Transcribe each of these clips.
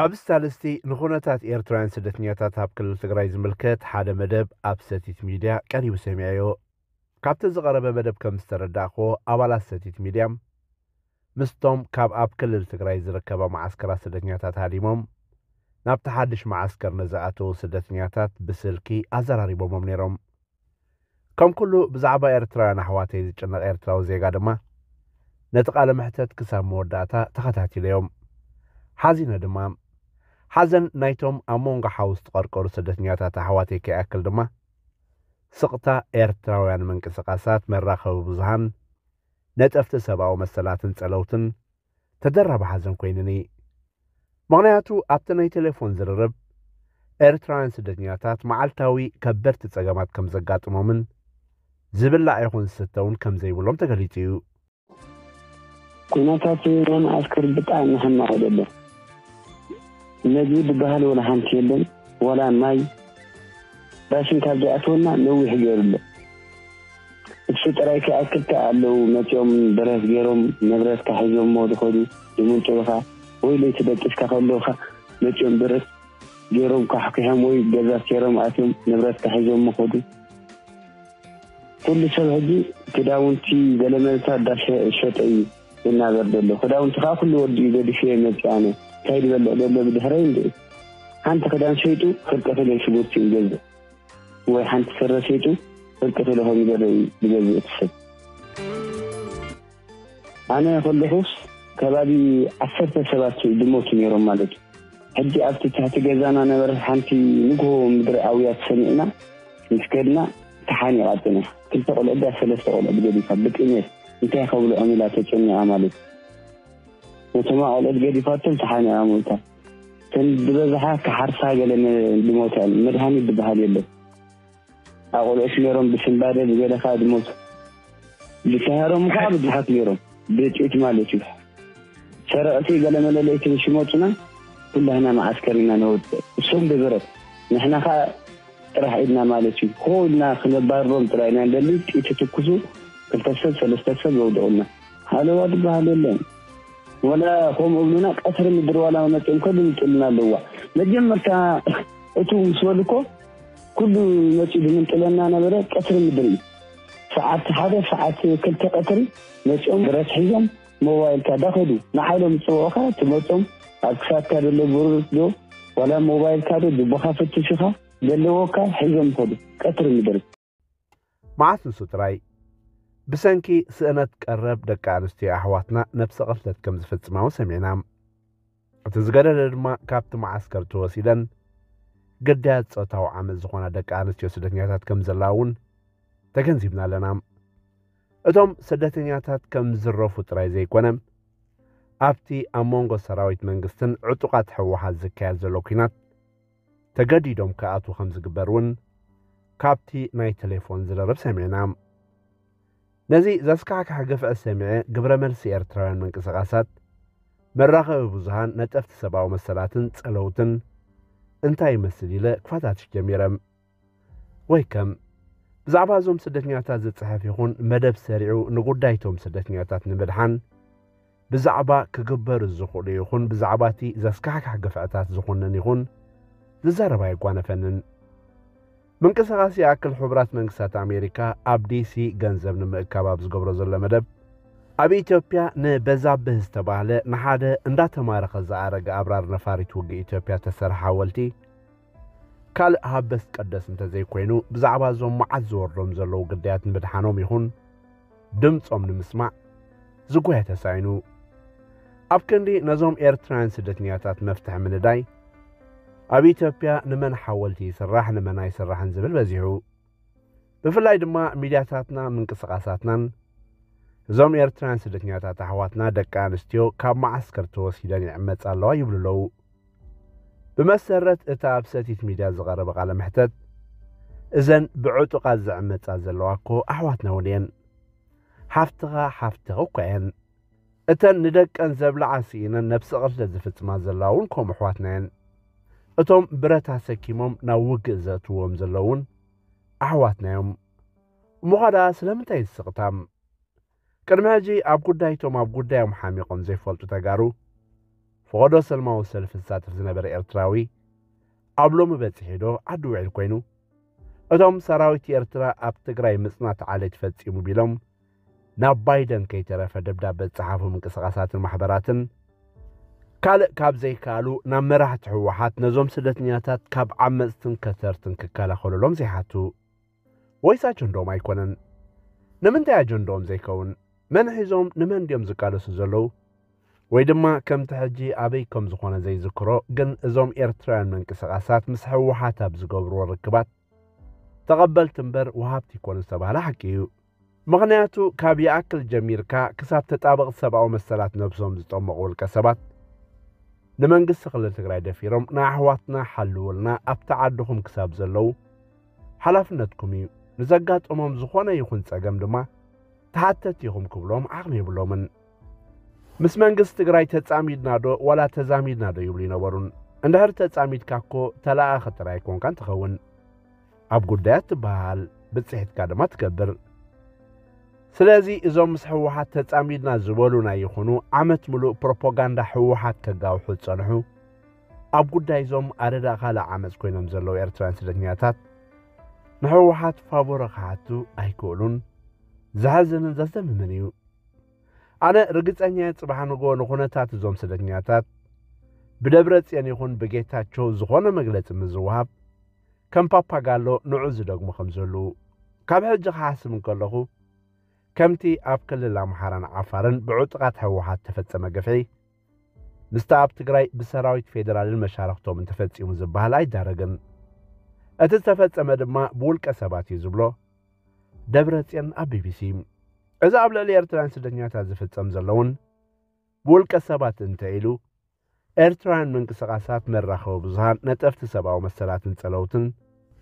ኣብዚ ሳልስቲ ንኹነታት ኤርትራውያን ስደተኛታት ኣብ ክልል ትግራይ ዝምልከት ሓደ መደብ ኣብ ሰቲት ሚድያ ቀሪቡ ሰሚዐዮ። ካብቲ ዝቐረበ መደብ ከም ዝተረዳእክዎ፣ ኣባላት ሰቲት ሚድያ ምስቶም ካብ ኣብ ክልል ትግራይ ዝርከባ መዓስከራት ስደተኛታት ሃዲሞም ናብቲ ሓድሽ መዓስከር ንዝኣተዉ ስደተኛታት ብስልኪ ኣዘራሪቦሞም ነይሮም። ከም ኩሉ ብዛዕባ ኤርትራውያን ኣሕዋተይ ዝጭነቕ ኤርትራዊ ዜጋ ድማ ነቲ ቃለ መሕተት ክሳብ መወዳእታ ተኸታቲለዮም። ሓዚነ ድማ ሓዘን ናይቶም ኣብ መንጎ ሓዊ ዝተቐርቀሩ ስደተኛታት ኣሕዋተይ ከይኣክል ድማ ስቕታ ኤርትራውያን ምንቅስቓሳት መራኸቢ ብዙሃን፣ ነጠፍቲ ሰብኣዊ መሰላትን ጸለውትን ተደራቢ ሓዘን ኮይኑኒ። ምኽንያቱ ኣብቲ ናይ ቴሌፎን ዝርርብ ኤርትራውያን ስደተኛታት መዓልታዊ ከበድቲ ጸገማት ከም ዘጋጥሞምን ዝብላዕ ይኹን ዝስተ እውን ከም ዘይብሎም ተገሊጹ እዩ። ኩነታት ናይ መዓስከር ብጣዕሚ ሕማቕ ደሎ። መግቢ ዝበሃል ወላ ሓንቲ የለን፣ ወላ ማይ ራሽን ካብ ዘይኣትወና ነዊሕ ገይሩ ኣሎ። እሱ ጥራይ ከይኣክል ከኣ ኣለዉ መጺኦም ብረት ገይሮም ንብረትካ ሒዞሞ ዝኸዱ፣ ዝምንጥሉኻ ወይ ለይቲ ደቂስካ ከለኻ መጺኦም ብረት ገይሮም ኳሕኲሖም ወይ ገዛ ሴሮም ኣትዮም ንብረትካ ሒዞሞ ከዱ። ኩሉ ሰብ ሕጂ ክዳውንቲ ገለመለታት እንዳሸጠ እዩ ዝናበር ዘሎ። ክዳውንቲ ከዓ ኩሉ ወዲኡ ገዲፈ መፂእ ኣነ እንታይ ዝበልዕ ዘሎ ብድሕረይ እንድዒ ሓንቲ ክዳን ሸይጡ ፍርቂ ኪሎ ሽጉርቲ ይገዝእ ወይ ሓንቲ ስረ ሸይጡ ፍርቂ ኪሎ ኮሚደረ እዩ ዝገዝእ እቲ ሰብ። ኣነ ከለኹስ ከባቢ ዓሰርተ ሰባት ዝሞቱ ነይሮም ማለት እዩ። ሕጂ ኣብቲ ትሕቲ ገዛና ነበረ ሓንቲ ንግሆ ምድሪ ኣውያ ተሰሚዕና ምስ ከድና ተሓኒቓ ጽኒሓ። ክልተ ቆልዑ ድያ ሰለስተ ቆልዑ ገዲፋ ብጥሜት እንታይ ከብልዖም ኢላ ተጨኒቓ ማለት እዩ። ነቶም ቆልዑት ገዲፋቶም ተሓኒቓ ሞይታ። እተን ዝበዝሓ ክሓርሳ ገለ ዝሞታ እየን። መድሃኒት ዝበሃል የለን። ኣቆልዑት ነይሮም ብስንባደ ብገለ ከዓ ዝሞቱ። ብተሃሮም ከዓ ብዙሓት ነይሮም ብጥይት ማለት እዩ። ሰረቕቲ ገለመለ ለይቲ ምስ ይመፁና ኩላህና መዓስከር ኢና ነወፅእ። እሶም ብብረት ንሕና ከዓ ጥራሕ ኢድና ማለት እዩ። ኮ ኢልና ክነባርሮም ጥራይ ኢና ንደሊ። ጥይት ትኩሱ ክልተ ሰብ ሰለስተ ሰብ ዘውድቑልና። ሃለዋ ዝበሃል የለን። ወላ ከምኡ እብሉና ቀትሪ ምድሪ ዋላ መፅኦም ከ ዝምጥልና ኣለዋ። መጀመርታ እቱ ምስ በሉ እኮ ኩሉ መፂኡ ዝምንጥለና ነበረ ቀትሪ ምድሪ እዩ። ሰዓት ሓደ ሰዓት ክልተ ቀትሪ መፂኦም ብረት ሒዞም ሞባይልካ ዳኸዱ ንዓሎም ዝፅውዑኻ ትመፆም ኣብ ክሳድካ ዘሎ ብሩር ዶ ዋላ ሞባይልካ ዶ ጅቦኻ ፈትሹኻ ዘለዎካ ሒዞም ይኸዱ ቀትሪ ምድሪ። መዓስ ንሱ ጥራይ ብሰንኪ ስእነት ቀረብ ደቂ ኣንስትዮ ኣሕዋትና ነብሰ ቅትለት ከም ዝፍጽማ እውን ሰሚዕና። እቲ ዝገደደ ድማ ካብቲ መዓስከር ተወሲደን ግዳያት ጾታዊ ዓመጽ ዝኾና ደቂ ኣንስትዮ ስደተኛታት ከም ዘለዋ እውን ተገንዚብና ኣለና። እቶም ስደተኛታት ከም ዝዝረፉ ጥራይ ዘይኮነ ኣብቲ ኣብ መንጎ ሰራዊት መንግስትን ዕጡቓት ህወሓት ዝካየድ ዘሎ ኲናት ተገዲዶም ክኣትዉ ከም ዝግበር እውን ካብቲ ናይ ቴሌፎን ዝርርብ ሰሚዕና። ነዚ ዘስካሕክሕ ግፍዒ ሰሚዐ ግብረ መልሲ ኤርትራውያን ምንቅስቓሳት መራኸቢ ብዙሃን ነጠፍቲ ሰብኣዊ መሰላትን ጸለውትን እንታይ ይመስል ኢለ ክፈታትሽ ጀሚረ። ወይ ከም ብዛዕባ እዞም ስደተኛታት ዝጽሕፍ ይኹን መደብ ሰሪዑ ንጉዳይቶም ስደተኛታት ንምድሓን ብዛዕባ ክግበሩ ዝኽእሉ ይኹን ብዛዕባ እቲ ዘስካሕክሕ ግፍዕታት ዝኾነን ይኹን ዝዛረብ ኣይጓነፈንን። ምንቅስቓስ ይኣክል ሕቡራት መንግስታት ኣሜሪካ ኣብ ዲሲ ገንዘብ ንምእካብ ኣብ ዝገብሮ ዘሎ መደብ ኣብ ኢትዮጵያ ንበዛብህ ዝተባህለ ንሓደ እንዳተማረኸ ዝኣረገ ኣብራር ነፋሪት ውግእ ኢትዮጵያ ተሰርሐ ሓወልቲ ካልእ ሃበስ ቀደስ እንተዘይኮይኑ ብዛዕባ እዞም መዓት ዝወርዶም ዘለዉ ግዳያት ንምድሓኖም ይኹን ድምፆም ንምስማዕ ዝጎየ ተሳኢኑ። ኣብ ክንዲ ነዞም ኤርትራውያን ስደተኛታት መፍትሒ ምንዳይ ኣብ ኢትዮጵያ ንመን ሓወልቲ ይስራሕ ንመን ኣይስራሕን ዝብል በዚሑ። ብፍላይ ድማ ሚድያታትና ምንቅስቓሳትናን እዞም ኤርትራውያን ስደተኛታት ኣሕዋትና ደቂ ኣንስትዮ ካብ መዓስከር ተወሲደን ይዕመፃ ኣለዋ ይብሉ ኣለዉ። ብመሰረት እቲ ኣብ ሰቲት ሚድያ ዝቐረበ ቃለ መሕተት እዘን ብዕጡቓት ዝዕመፃ ዘለዋ እኮ ኣሕዋትና እውን እየን። ሓፍትኻ ሓፍትኺ እኳ እየን። እተን ንደቀን ዘብልዓ ስኢነን ነብሰ ቅትለት ዝፍፅማ ዘለዋ እውን ከምኡ ኣሕዋትና እየን። እቶም ብረት ኣሰኪሞም ናብ ውግእ ዘእትዎም ዘለዉ እውን ኣሕዋትና እዮም። እሞ ኸኣ ስለምንታይ ዝስቕታም? ቅድሚ ሕጂ ኣብ ጉዳይቶም ኣብ ጉዳዮም ሓሚቖም ዘይፈልጡ ተጋሩ ፈቐዶ ሰልማዊ ሰልፊ ዝሳተፍ ዝነበረ ኤርትራዊ፣ ኣብ ሎሚ በጺሑ ዶ ዓዲ ውዒል ኮይኑ? እቶም ሰራዊት ኤርትራ ኣብ ትግራይ ምጽናት ዓሌት ፈጺሙ ቢሎም ናብ ባይደን ከይተረፈ ደብዳበ ዝጸሓፉ ምንቅስቓሳትን ማሕበራትን፣ ካልእ ካብ ዘይከኣሉ ናብ መራሕቲ ህወሓት ነዞም ስደተኛታት ካብ ዓመጽትን ከተርትን ክከላኸሉሎም ዘይሓቱ? ወይስ ኣጀንድኦም ኣይኮነን? ንምንታይ ኣጀንድኦም ዘይከውን? መን ሒዞም ንመን ድዮም ዝቃለሱ ዘለዉ? ወይ ድማ ከምቲ ሕጂ ኣበይ ከም ዝኾነ ዘይዝክሮ፣ ግን እዞም ኤርትራውያን ምንቅስቓሳት ምስ ህወሓት ኣብ ዝገብርዎ ርክባት ተቐበልቲ እምበር ወሃብቲ ይኮኑ ዝተባህለ ሓቂ እዩ። ምኽንያቱ ካብ ይኣክል ጀሚርካ ክሳብ ተጣበቕቲ ሰብኣዊ መሰላት ነብሶም ዝጠመቑ ውልቀ ሰባት ንመንግስቲ ክልል ትግራይ ደፊሮም ንኣሕዋትና ሓልውልና ኣብቲ ዓድኹም ክሳብ ዘለዉ ሓላፍነትኩም እዩ። ንዘጋጠሞም ዝኾነ ይኹን ጸገም ድማ ተሓተቲ ኢኹም ክብሎም ዓቕሚ የብሎምን። ምስ መንግስቲ ትግራይ ተጻሚድና ዶ ዋላ ተዛሚድና ዶ ይብሉ ይነበሩን። እንድሕር ተጻሚድካ እኮ ተለኣኸ ጥራይ ኣይኮንካን ትኸውን። ኣብ ጉዳያት ትበሃል፣ ብጽሒትካ ድማ ትገብር። ስለዚ እዞም ምስ ህወሓት ተጻሚድና ዝበሉና ይኹኑ ዓመት ምሉእ ፕሮፓጋንዳ ህወሓት ከጋውሑ ዝጸንሑ፣ ኣብ ጉዳይ እዞም ኣረዳ ካልእ ዓመጽ ኮይኖም ዘለዉ ኤርትራውያን ስደተኛታት ንህወሓት ፋቮረ ክሓቱ ኣይክእሉን። ዘሕዝንን ዘስደምምን እዩ። ኣነ ርግጸኛ እየ፣ ጽባሕ ንግሆ ንኹነታት እዞም ስደተኛታት ብደብረ ጽዮን ይኹን ብጌታቸው ዝኾነ መግለጺ ምስ ዝወሃብ ከም ፓፓጋሎ ንዑ ዝደግሙ ከም ዘለዉ ካብ ሕጂ ክሓስብ እንከለኹ፣ ከምቲ ኣብ ክልል ኣምሓራን ዓፋርን ብዕጡቓት ህወሓት ተፈጸመ ግፍዒ፣ ምስቲ ኣብ ትግራይ ብሰራዊት ፌደራልን መሻርኽቶምን ተፈጺሙ ዝበሃል ኣይዳረግን። እቲ ዝተፈጸመ ድማ ብውልቀ ሰባት እዩ ዝብሎ ደብረጽዮን ኣብ ቢቢሲ። እዚ ኣብ ልዕሊ ኤርትራውያን ስደተኛታት ዝፍጸም ዘሎ እውን ብውልቀ ሰባት እንተ ኢሉ፣ ኤርትራውያን ምንቅስቓሳት መራኸቢ ብዙሃን፣ ነጠፍቲ ሰብኣዊ መሰላትን ጸለውትን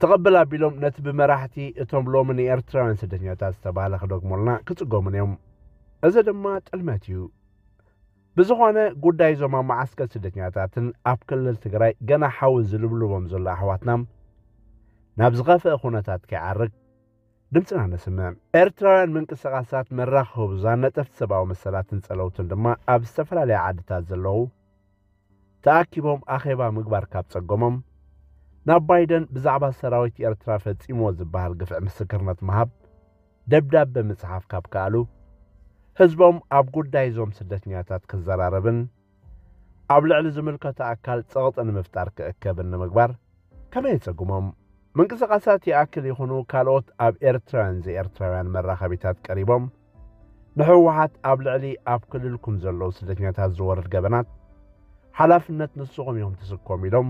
ትቕብል ኣቢሎም ነቲ ብመራሕቲ እቶም ሎሚ ንኤርትራውያን ስደተኛታት ዝተባህለ ክደግሙልና ክጽገሙን እዮም። እዚ ድማ ጥልመት እዩ። ብዝኾነ ጉዳይ እዞም ኣብ መዓስከር ስደተኛታትን ኣብ ክልል ትግራይ ገና ሓዊ ዝልብልቦም ዘሎ ኣሕዋትና ናብ ዝኸፍአ ኩነታት ከይዓርግ ድምፅና ነስምዕ። ኤርትራውያን ምንቅስቓሳት መራኸቢ ብዙሃን ነጠፍቲ ሰብኣዊ መሰላትን ጸለውትን ድማ ኣብ ዝተፈላለያ ዓድታት ዘለዉ ተኣኪቦም ኣኼባ ምግባር ካብ ጸገሞም፣ ናብ ባይደን ብዛዕባ ሰራዊት ኤርትራ ፈጺምዎ ዝበሃል ግፍዒ ምስክርነት ምሃብ ደብዳበ ምጽሓፍ ካብ ከኣሉ፣ ህዝቦም ኣብ ጉዳይ እዞም ስደተኛታት ክዘራረብን ኣብ ልዕሊ ዝምልከቶ ኣካል ጸቕጢ ንምፍጣር ክእከብን ንምግባር ከመይ የጸግሞም? ምንቅስቓሳት ይኣክል ይኹኑ ካልኦት ኣብ ኤርትራውያን ዘይኤርትራውያን መራኸቢታት ቀሪቦም ንህወሓት ኣብ ልዕሊ ኣብ ክልልኩም ዘለዉ ስደተኛታት ዝወርድ ገበናት ሓላፍነት ንስኹም ኢኹም ትስከሙ ኢሎም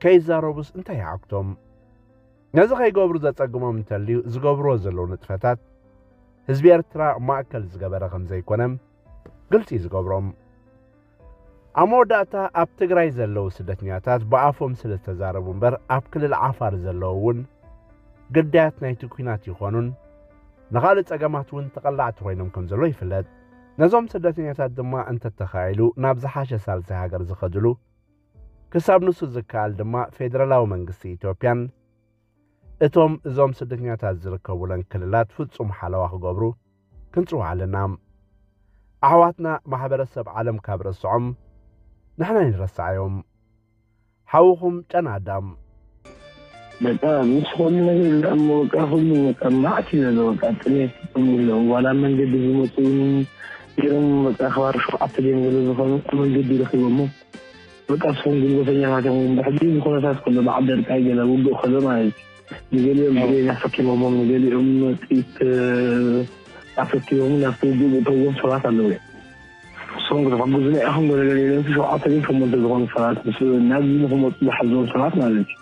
ከይዛረቡስ እንታይ ይዓግቶም? ነዚ ከይገብሩ ዘጸግሞም እንተልዩ ዝገብርዎ ዘለዉ ንጥፈታት ህዝቢ ኤርትራ ማእከል ዝገበረ ከም ዘይኮነ ግልጺ እዩ ዝገብሮም። ኣብ መወዳእታ ኣብ ትግራይ ዘለዉ ስደተኛታት ብኣፎም ስለ ዝተዛረቡ እምበር ኣብ ክልል ዓፋር ዘለዉ እውን ግዳያት ናይቲ ኲናት ይኾኑን ንኻልእ ጸገማት እውን ተቐላዕቲ ኮይኖም ከም ዘለዉ ይፍለጥ። ነዞም ስደተኛታት ድማ እንተተኻኢሉ ናብ ዝሓሸ ሳልሳይ ሃገር ዝኸድሉ ክሳብ ንሱ ዝከኣል ድማ ፌደራላዊ መንግስቲ ኢትዮጵያን እቶም እዞም ስደተኛታት ዝርከቡለን ክልላት ፍጹም ሓለዋ ክገብሩ ክንጽውዕ ኣለና። ኣሕዋትና ማሕበረሰብ ዓለም ካብ ረስዖም ንሕና ኣይንረስዓዮም። ሓውኹም ጨና ኣዳም። በቃ ምስ ኩሉ ነገር ኢሉ እሞ በቃ ኩሉ በቃ ማዕት እዩ ዘሎ። በቃ ጥሜት ጥም ኢሎም ዋላ መንገዲ ዝመፁ እውን ገይሮም በቃ ከባቢ ሸውዓተ ድዮም ገለ ዝኾኑ መንገዲ ረኺቦሞ በቃ እሶም ጉልበተኛታት እዮም። ሕጂ እዚ ኩነታት ከሎ በዓል ደርቃይ ገለ ውግእ ከሎ ማለት እዩ። ንገሊኦም ብሬን ኣሰኪሞሞም፣ ንገሊኦም ጥይት ኣሰኪሞም ናብቲ ውግእ ዝእተዎም ሰባት ኣለዉ እዮም። እሶም ክትሕግዙና ኢኹም ገለ ገለ ኢሎም ሸውዓተ ድዮም ሸሞንተ ዝኾኑ ሰባት ምስ ናብዚ ንክመፁ ዝሓዝዎም ሰባት ማለት እዩ።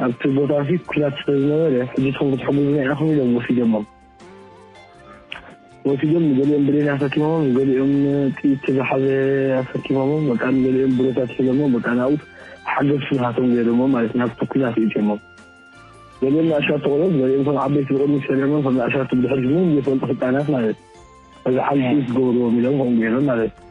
ኣብቲ ቦታ እዚ ኩናት ስለ ዝነበረ ሕጂ እሶም ክትሕግዙና ኢኹም ኢሎም ወሲዶሞም። ወሲዶም ንገሊኦም ብሬን ኣሰኪሞም፣ ንገሊኦም ጥይት ዝሓዘ ኣሰኪሞም፣ በቃ ንገሊኦም ብረታት ሒዞሞም፣ በቃ ናብኡ ሓገዝ ስልሃቶም ገይሮሞ ማለት ናብቲ ኩናት እትዮሞም። ገሊኦም ንኣሻቱ ቆልዑት፣ ገሊኦም ከም ዓበይቲ ብቕድሚት ሰሪዖሞም፣ ከም ንኣሻቱ ብድሕሪት ምንም ዘይፈልጡ ህጻናት ማለት እዩ። እዚ ዓቢ ጥይት ዝገበርዎም ኢሎም ከምኡ ገይሮም ማለት እዩ።